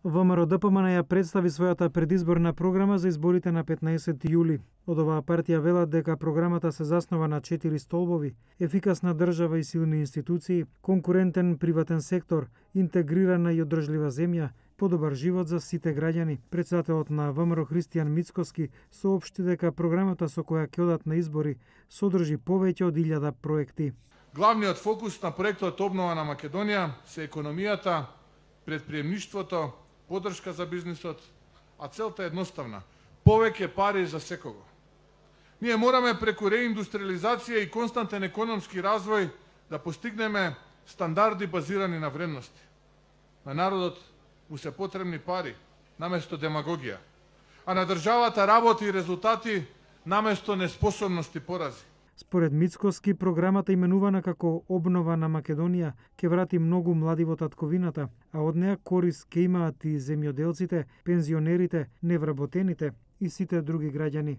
ВМРО-ДПМН ја представи својата предизборна програма за изборите на 15 јули. Од оваа партија велат дека програмата се заснова на 4 столбови: ефикасна држава и силни институции, конкурентен приватен сектор, интегрирана и одржлива земја, подобар живот за сите граѓани. Председателот на ВМРО Христијан Мицкоски соопшти дека програмата со која ќе одат на избори содржи повеќе од 1000 проекти. Главниот фокус на проектот Обнова на Македонија се економијата, предприемништвото, поддршка за бизнисот, а целта е едноставна: повеќе пари за секого. Ние мораме преку реиндустриализација и константен економски развој да постигнеме стандарди базирани на вредности. На народот му се потребни пари наместо демагогија, а на државата работа и резултати наместо неспособност и порази. Според Мицкоски, програмата именувана како Обнова на Македонија ќе врати многу млади во татковината, а од неа корист ќе имаат и земјоделците, пензионерите, невработените и сите други граѓани.